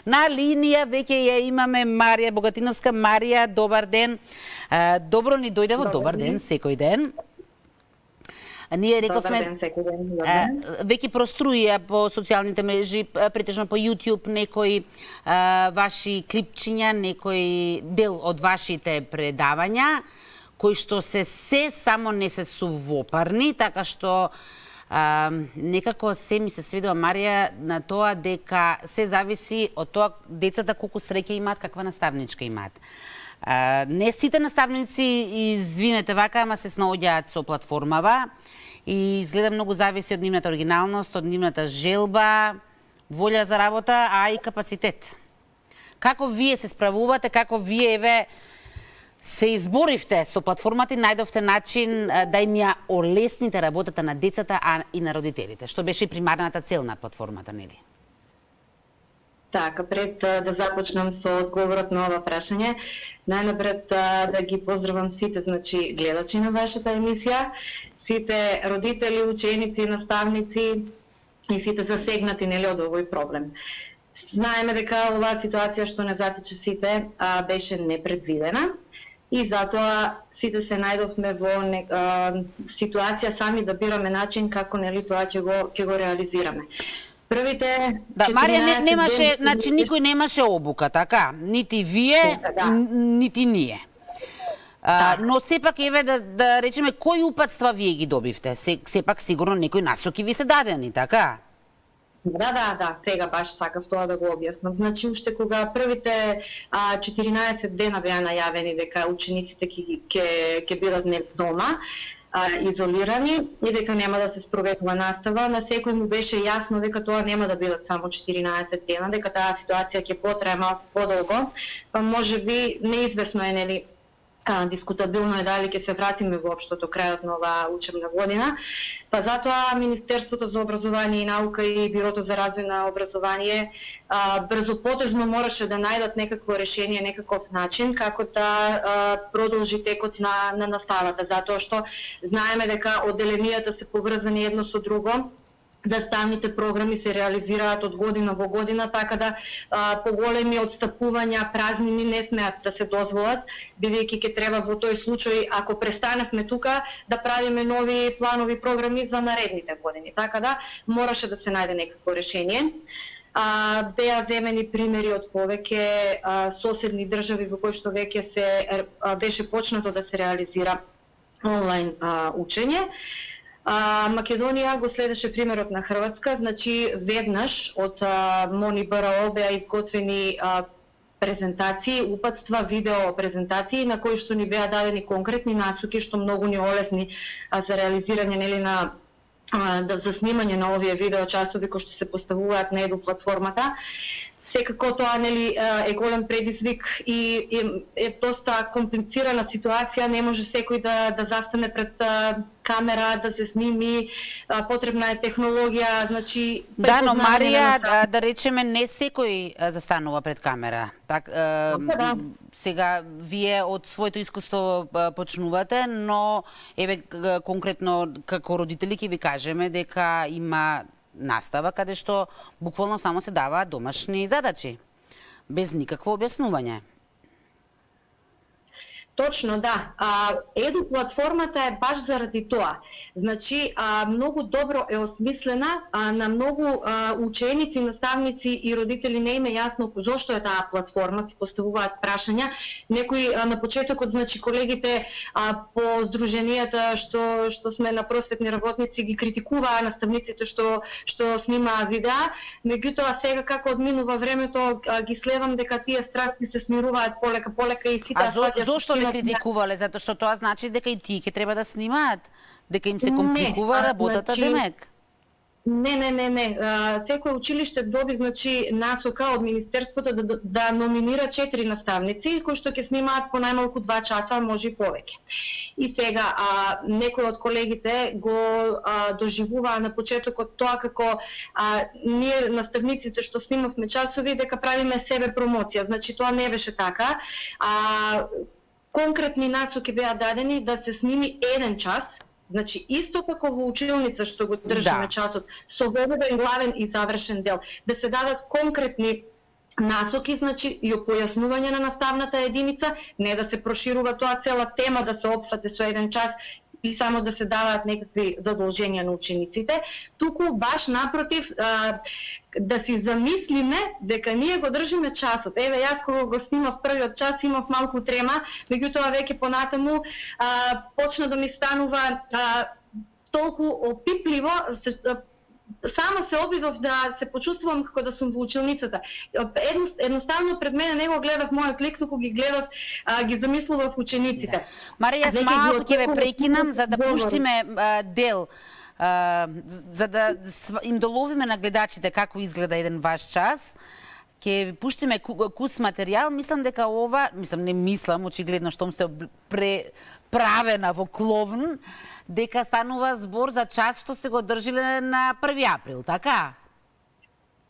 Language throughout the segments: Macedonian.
На линија веќе ја имаме Марија Богатиновска. Марија, добар ден. Добро ни дојдево, добар ден, секој ден. Ние рековме, веќе проструија по социјалните мрежи, претежно по YouTube, некои ваши клипчиња, некој дел од вашите предавања, кои што се само не се сувопарни, така што некако се ми се сведува, Марија, на тоа дека се зависи од тоа децата колку среќа имаат, каква наставничка имаат. Не сите наставници, извинете вака, ама се снаоѓаат со платформава и изгледа многу зависи од нивната оригиналност, од нивната желба, волја за работа, а и капацитет. Како вие се справувате, како вие се изборивте со платформата и најдовте начин да им ја олесните работата на децата, а и на родителите, што беше и примарната цел на платформата, нели? Така, пред да започнам со одговорот на ова прашање, најнапред да ги поздравам сите, значи, гледачи на вашата емисија, сите родители, ученици, наставници и сите засегнати, нели, од овој проблем. Знаеме дека оваа ситуација што не затече сите беше непредвидена и затоа сите се најдовме во ситуација сами да бираме начин како, нели, тоа ќе го реализираме. Првите Марија немаше, значи никој немаше обука, така? Нити вие, нити ние. Но сепак еве да речеме кои упатства вие ги добивте? Сепак сигурно некои насоки ви се дадени, така? Да, сега баш сакав тоа да го објаснам. Значи, уште кога првите 14 дена беа најавени дека учениците ќе бидат дома, изолирани и дека нема да се спроведува настава, на секој му беше јасно дека тоа нема да бидат само 14 дена, дека таа ситуација ќе потрае малку подолго, па можеби неизвестно е, нели, дискутабилно е дали ќе се вратиме воопшто до крајот на оваа учебна година, па затоа Министерството за образование и наука и Бирото за развој на образование брзопотезно мораше да најдат некакво решение, некаков начин како да продолжи текот на наставата, затоа што знаеме дека одделенијата се поврзани едно со друго, наставните програми се реализираат од година во година, така да поголеми отстапувања, празнини не смеат да се дозволат, бидејќи ќе треба во тој случај, ако престаневме тука, да правиме нови планови програми за наредните години. Така да мораше да се најде некакво решение. Беа земени примери од повеќе соседни држави во кои што веќе беше почнато да се реализира онлайн учење. Македонија го следеше примерот на Хрватска, значи веднаш од МОН и БРО беа изготвени презентации, упатства, видео презентации на кои што ни беа дадени конкретни насоки што многу ни олесни за реализирање, нели, за снимање на овие видео часови кои што се поставуваат на Еду платформата. Секако тоа, нели, е голем предизвик и е доста комплицирана ситуација, не може секој да застане пред камера, да се сними, потребна е технологија, значи... Да, но Марија, да речеме, не секој застанува пред камера. Сега, вие од своето искуство почнувате, но, еве, конкретно, како родители ќе ви кажеме дека има настава каде што буквално само се даваат домашни задачи, без никакво објаснување. Точно, да. Еду платформата е баш заради тоа. Значи, многу добро е осмислена, на многу ученици, наставници и родители не им е јасно зошто е таа платформа, си поставуваат прашања. Некои на почетокот, значи, колегите по здруженијата што сме на просветни работници ги критикуваа наставниците што снимаа видеа, меѓутоа сега како одминува времето ги следам дека тие страсти се смируваат полека и сите зошто критикувале, затоа што тоа значи дека и тие ќе треба да снимаат, дека им се компликува работата, демек. Не. Секој училиште доби, значи, насока од Министерството да номинира 4 наставници кои што ќе снимаат по најмалку 2 часа, може и повеќе. И сега некои од колегите го доживуваа на почетокот тоа како ние наставниците што снимавме часови дека правиме себе промоција. Значи тоа не беше така. Конкретни насоки беа дадени да се сними 1 час, значи исто како во училница што го држиме часот, со воведен главен и завршен дел, да се дадат конкретни насоки, значи и појаснување на наставната единица, не да се проширува тоа цела тема, да се опфате со еден час и само да се даваат некакви задолженија на учениците, туку баш напротив да си замислиме дека ние го држиме часот. Еве, јас кога го снимав првиот час имав малку трема, меѓутоа веќе понатаму почна да ми станува толку опипливо, сама се обидов да се почувствувам како да сум во училницата. Едноставно пред мене не го гледав мојот лик, туку ги гледав, ги замислував учениците. Марија, јас малку ќе ве прекинам за да пуштиме дел, за да им доловиме на гледачите како изгледа еден ваш час. Ќе пуштиме кус материјал. Мислам дека ова, очигледно штом сте преправена во кловн, дека станува збор за час што сте го држиле на 1 април, така?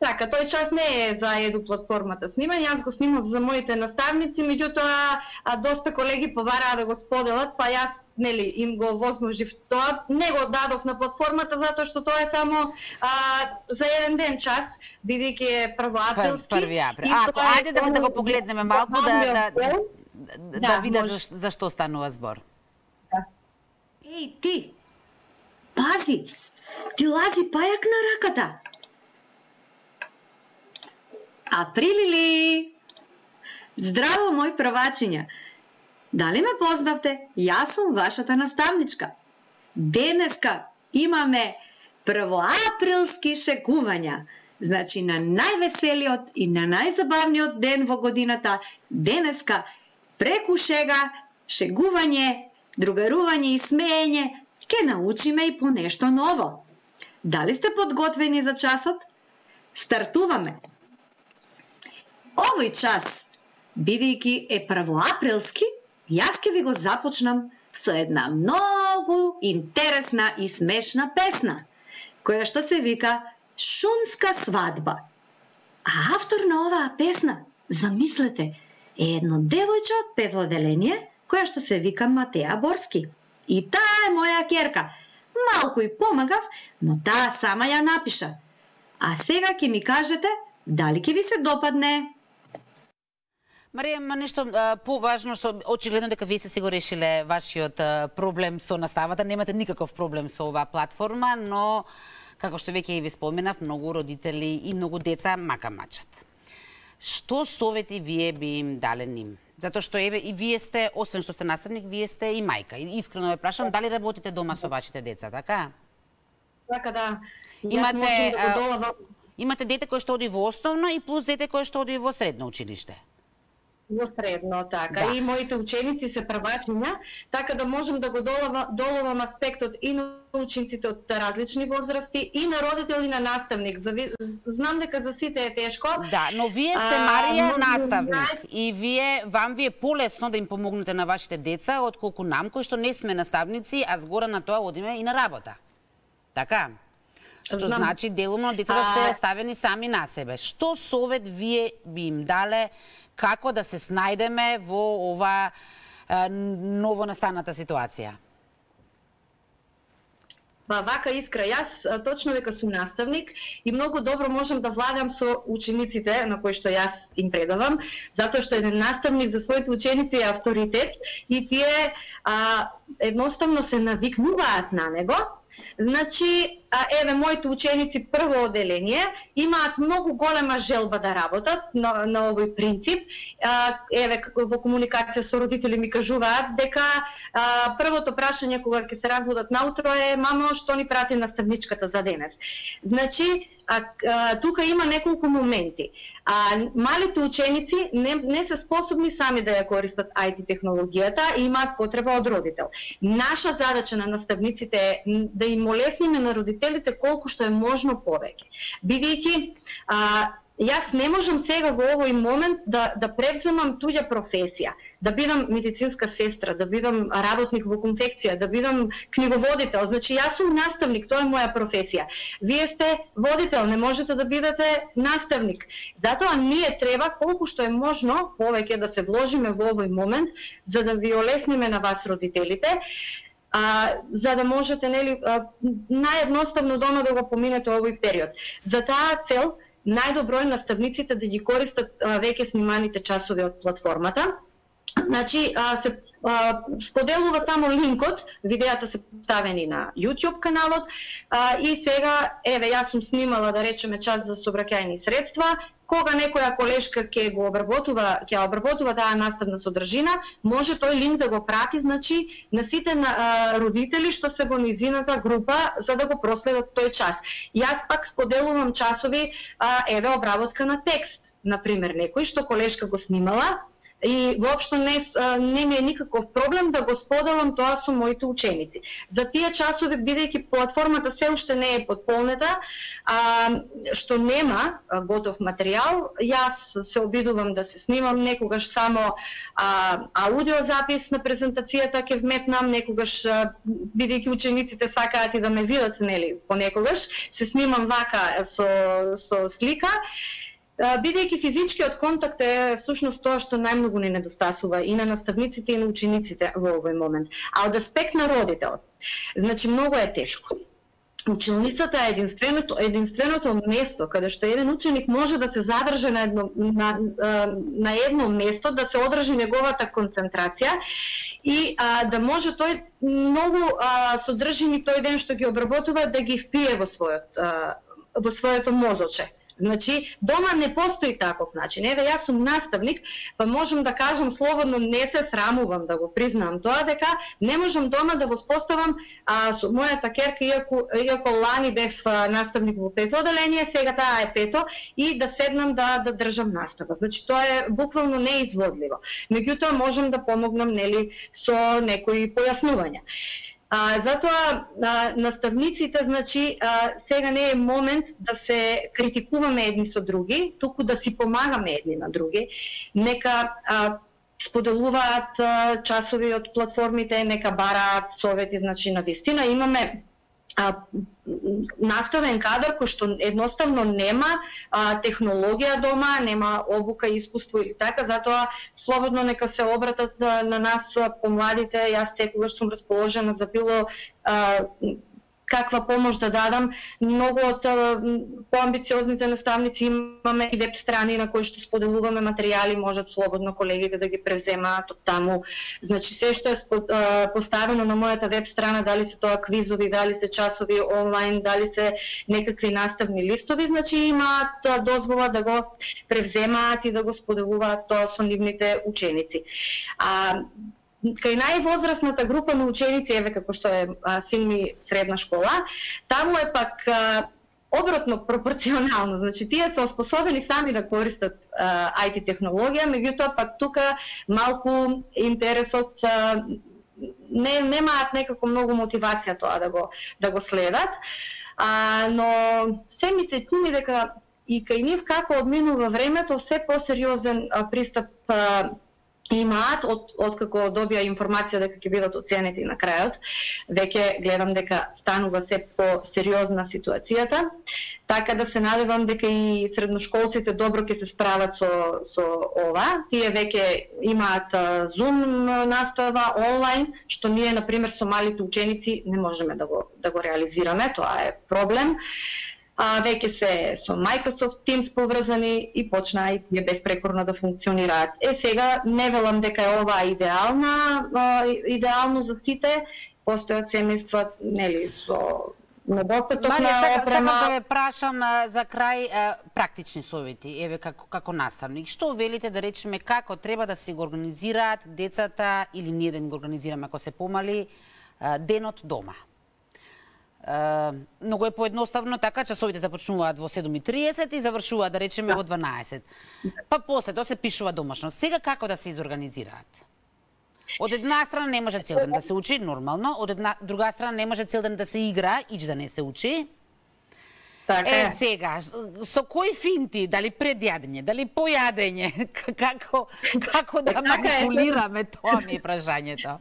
Така, тој час не е за Еду платформата снимање, јас го снимав за моите наставници, меѓутоа доста колеги побараа да го споделат, па јас им го возможив тоа, не го дадов на платформата затоа што тоа е само за еден ден час, бидејќи е првоаприлски. 1 април. Ајде да го погледнеме малку да видат за што станува збор. Еј, ти! Пази! Ти лази пајак на раката! Априлили! Здраво, мој првачиња! Дали ме познавте? Јас сум вашата наставничка. Денеска имаме првоаприлски шегувања. Значи, на највеселиот и на најзабавниот ден во годината, денеска преку шега, шегување, другарување и смеење, ќе научиме и по нешто ново. Дали сте подготвени за часот? Стартуваме! Овој час, бидејќи е првоаприлски, јас ќе ви го започнам со една многу интересна и смешна песна, која што се вика Шумска свадба. А автор на оваа песна, замислете, е едно девојче од 5 одделение, која што се вика Матеја Борски. И таа е моја ќерка. Малку и помагав, но таа сама ја напиша. А сега ќе ми кажете дали ќе ви се допадне. Марија, нешто поважно, што очигледно дека вие се го решиле вашиот проблем со наставата, немате никаков проблем со оваа платформа, но како што веќе и ви споменав, многу родители и многу деца мака мачат. Што совети вие би им дале ним? Затоа што еве и вие сте, освен што сте наставник, вие сте и мајка. И искрено ве прашам, дали работите дома со вашите деца, така? Така да. Имате дете кое што оди во основно и плюс дете кое што оди во средно училиште. Во средно, така. Да. И моите ученици се првачиња, така да можам да го доловам аспектот и на учениците од различни возрасти, и на родител и на наставник. Знам дека за сите е тешко. Да, но вие сте, Марија, наставник. И вам ви е полесно да им помогнете на вашите деца, отколку нам, кои што не сме наставници, а згора на тоа одиме и на работа. Така? Што значи делумно децата се оставени сами на себе. Што совет вие би им дале, како да се снајдеме во ова новонастаната ситуација? Вака Искра, јас точно дека сум наставник и многу добро можам да владам со учениците на кои што јас им предавам, затоа што еден наставник за своите ученици е авторитет и тие едноставно се навикнуваат на него. Значи, еве, моите ученици прво одделение имаат многу голема желба да работат на овој принцип. Еве, во комуникација со родители ми кажуваат дека првото прашање кога ќе се разбудат наутро е: мамо, што ни прати наставничката за денес? Значи, тука има неколку моменти. Малите ученици не се способни сами да ја користат IT технологијата и имаат потреба од родител. Наша задача на наставниците е да им олесниме на родителите колку што е можно повеќе. Бидејќи јас не можам сега во овој момент да превземам туѓа професија, да бидам медицинска сестра, да бидам работник во конфекција, да бидам книговодител. Значи, јас сум наставник, тоа е моја професија. Вие сте водител, не можете да бидете наставник. Затоа ние треба колку што е можно повеќе да се вложиме во овој момент, за да ви олесниме на вас родителите, за да можете наједноставно да го поминете овој период. За таа цел најдобро е наставниците да ги користат веќе сниманите часови од платформата. Значи, се споделува само линкот, видеата се поставени на YouTube каналот и сега, еве, јас сум снимала, да речеме, час за сообраќајни средства, кога некоја колешка ќе обработува таа наставна содржина, може тој линк да го прати, значи, на сите родители што се во низината група за да го проследат тој час. Јас пак споделувам часови, еве, обработка на текст, например, некој што колешка го снимала, и воопшто не ми е никаков проблем да го споделам тоа со моите ученици. За тие часови, бидејќи платформата се уште не е потполнета, што нема готов материјал, јас се обидувам да се снимам, некогаш само аудиозапис на презентацијата ќе вметнам, некогаш бидејќи учениците сакаат и да ме видат, нели, понекогаш се снимам вака со слика. Бидејќи физичкиот контакт е всушност тоа што најмногу ни недостасува и на наставниците и на учениците во овој момент. А од аспект на родителот, значи многу е тешко. Училницата е единственото место каде што еден ученик може да се задржи на едно место, да се одржи неговата концентрација и да може тој многу содржини тој ден што ги обработува да ги впие во своето мозоче. Значи, дома не постои таков начин. Еве, јас сум наставник, па можам да кажам слободно, не се срамувам да го признам тоа, дека не можам дома да воспоставам со мојата керка, иако лани бев наставник во 5 оделение, сега таа е 5 и да седнам да држам настава. Значи, тоа е буквално неизводливо. Меѓутоа, можам да помогнам, нели, со некои појаснувања. Затоа наставниците, значи, сега не е момент да се критикуваме едни со други, туку да си помагаме едни на други. Нека споделуваат часови од платформите, нека бараат совети, значи, на вистина имаме наставен кадар кој што едноставно нема технологија дома, нема обука, искуство или така, затоа слободно нека се обратат на нас помладите. Јас секогаш сум расположена за било каква помош да дадам. Многу од поамбициозните наставници имаме и веб страни на кои што споделуваме материјали, можат слободно колегите да ги превземаат од таму. Значи, се што е поставено на мојата веб страна, дали се тоа квизови, дали се часови онлайн, дали се некакви наставни листови, значи имаат дозвола да го превземаат и да го споделуваат тоа со нивните ученици. Кај највозрасната група на ученици, еве како што е син ми средна школа, таму е пак обратно пропорционално. Значи, тие се оспособени сами да користат IT технологија, меѓутоа пак тука малку интересот немаат некако многу мотивација тоа да го следат. Но се ми се чини дека и кај нив како одминува времето, се посериозен пристап имаат откако добија информација дека ќе бидат оценети на крајот. Веќе гледам дека станува се по-сериозна ситуацијата, така да се надевам дека и средношколците добро ќе се справат со ова. Тие веќе имаат Zoom настава онлайн, што ние, например, со малите ученици не можеме да го реализираме, тоа е проблем. Веќе се со Microsoft Teams поврзани и почнаа и тие безпрекорно да функционираат. Сега не велам дека е ова идеално за сите, постојат семејства, нели, со недостаток на опрема. Само да ве прашам за крај практични совети, еве како наставник. Што велите, да речеме, како треба да се го организираат децата или ние да им го организираме ако се помали денот дома? Многу е поедноставно така, часовите започнуваат во 7:30 и завршуваат, да речеме, во 12. Па после тоа се пишува домашно. Сега како да се изорганизираат? Од една страна не може цел ден да се учи, нормално, од друга страна не може цел ден да се игра, ич да не се учи. Така сега, со кои финти, дали предјадење, дали појадење, како да манипулираме, тоа ми е прашањето.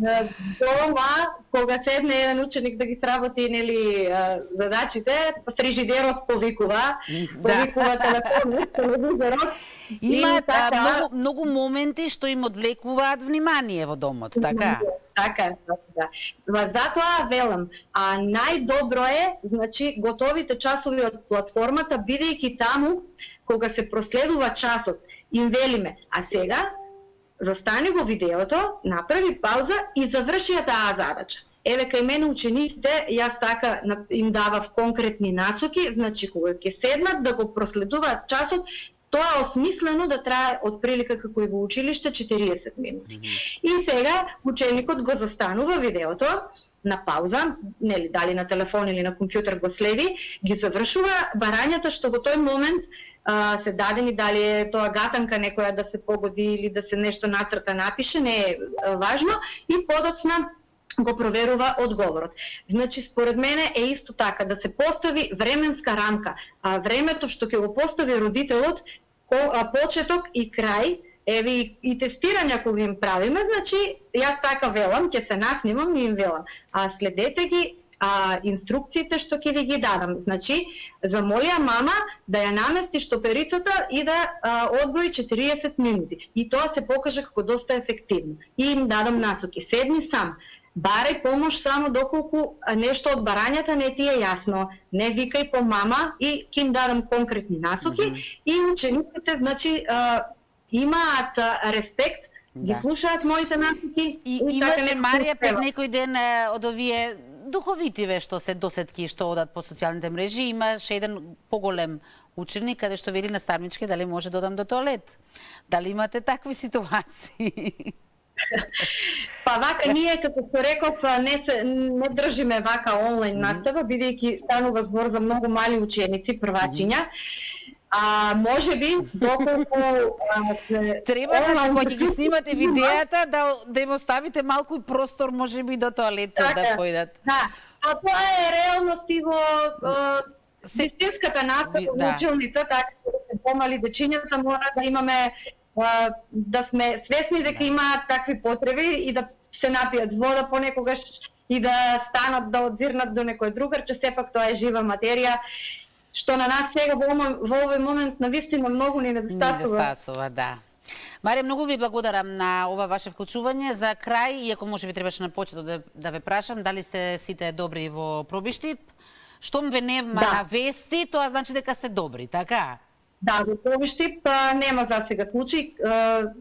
Дома, кога седне еден ученик да ги сработи, нели, задачите, фрижидерот повикува телефонот, телевизорот. Имаат многу моменти што им одвлекуваат внимание во домот, така? Така, да. Затоа велам, најдобро е, значи, готовите часови од платформата, бидејќи таму кога се проследува часот, им велиме, а сега застани во видеото, направи пауза и заврши ја таа задача. Еве кај мене учениците, јас така им давав конкретни насоки, значи кога ќе седнат да го проследуваат часот, тоа е осмислено да трае отприлика како и во училиште 40 минути. И сега ученикот го застанува видеото на пауза, нели дали на телефон или на компјутер го следи, ги завршува барањата што во тој момент се дадени, дали е тоа гатанка некоја да се погоди или да се нешто нацрта напише, не е важно, и подоцна го проверува одговорот. Значи, според мене е исто така да се постави временска рамка, а времето што ќе го постави родителот, почеток и крај, еве и тестирања кога им правиме, значи, јас така велам, ќе се наснимам и им велам, а следете ги инструкциите што ќе ви ги дадам. Значи, замолија мама да ја намести штоперицата и да одброи 40 минути. И тоа се покаже како доста ефективно. И им дадам насоки. Седни сам. Барај помош само доколку нешто од барањата не ти е јасно. Не викај по мама и ќе им дадам конкретни насоки. И учениците, значи, имаат респект, ги слушаат моите насоки. И имаше Марија пред некој ден од овие духовитиве што се досетки што одат по социјалните мрежи, имаше еден поголем ученик каде што вели наставничке дали може да одам до тоалет. Дали имате такви ситуации? Па вака ние, како што реков, не држиме вака онлайн настава, бидејќи станува збор за многу мали ученици, првачиња. Може би, доколку треба, значи, кога ќе ги снимате видеата, да им оставите малку и простор, може би, до тоалетот да појдат. Да, тоа е реалност и во вистинската настава, во училница, така да помали дечињата мора да имаме, да сме свесни дека имаат такви потреби и да се напијат вода понекогаш и да станат да одзирнат до некој другарче, сепак тоа е жива материја, што на нас сега во овој момент навистина многу ни недостасува. Недостасува, да. Марија, многу ви благодарам на ова ваше вклучување. За крај, иако може би требаше на почетот да ве прашам, дали сте сите добри во пробиштип? Штом ве нема на вести, тоа значи дека сте добри, така? Да, во пробиштип нема за сега случај.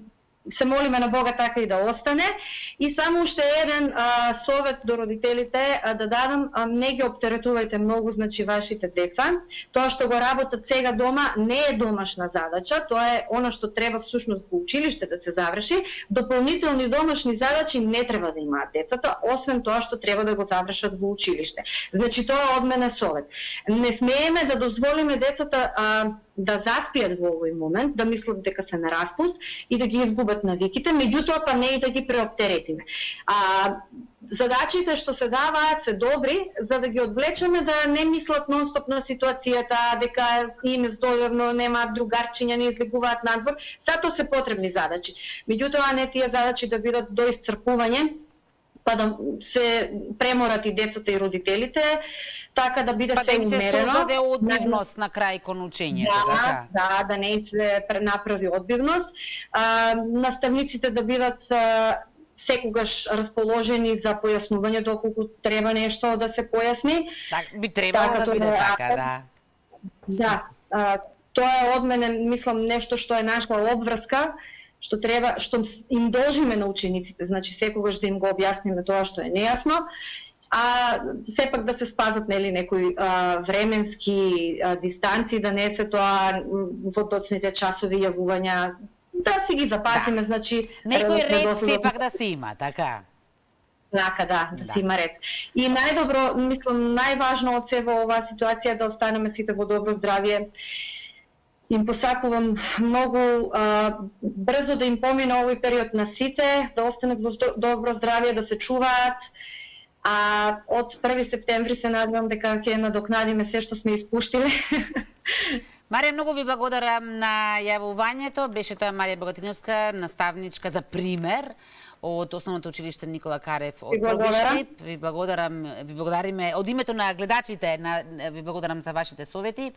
Се молиме на Бога така и да остане. И само уште еден совет до родителите да дадам, не ги оптеретувајте многу, значи, вашите деца. Тоа што го работат сега дома не е домашна задача, тоа е она што треба всушност во училиште да се заврши. Дополнителни домашни задачи не треба да имаат децата, освен тоа што треба да го завршат во училиште. Значи, тоа од мене совет. Не смееме да дозволиме децата да заспијат во овој момент, да мислат дека се на распуст и да ги изгубат навиките, меѓутоа па не и да ги преоптеретиме. Задачите што се даваат се добри, за да ги одвлечеме да не мислат нонстоп на ситуацијата, дека им е здодевно, немаат другарчиња, не излегуваат надвор. Сато се потребни задачи. Меѓутоа не тие задачи да бидат до исцрпување, па да се преморат и децата и родителите, така да биде се умерено. Па да им се создаде одбивност на крај кон учењето, така? Да не се направи одбивност. Наставниците да бидат секогаш расположени за појаснување доколку треба нешто да се појасни. Би требало да биде така, да. Да, тоа е од мене, мислам, нешто што е наша обврска, што треба, што им должиме на учениците, значи секогаш да им го објасниме тоа што е нејасно, сепак да се спазат, нели, некои временски дистанци, да не се тоа во доцните часови јавувања, да си ги запазиме, значи некој ред сепак да се има, така. Така, да се има ред. И најдобро, мислам, најважно од се во оваа ситуација да останеме сите во добро здравје. Им посакувам многу брзо да им помине овој период на сите, да останат во добро здравје, да се чуваат. Од 1 септември се надевам дека ќе надокнадиме се што сме испуштиле. Марија, многу ви благодарам на јавувањето. Беше тоа Марија Богатиновска, наставничка за пример од Основното училиште Никола Карев од Пробиштип. Ви благодариме од името на гледачите, ви благодарам за вашите совети.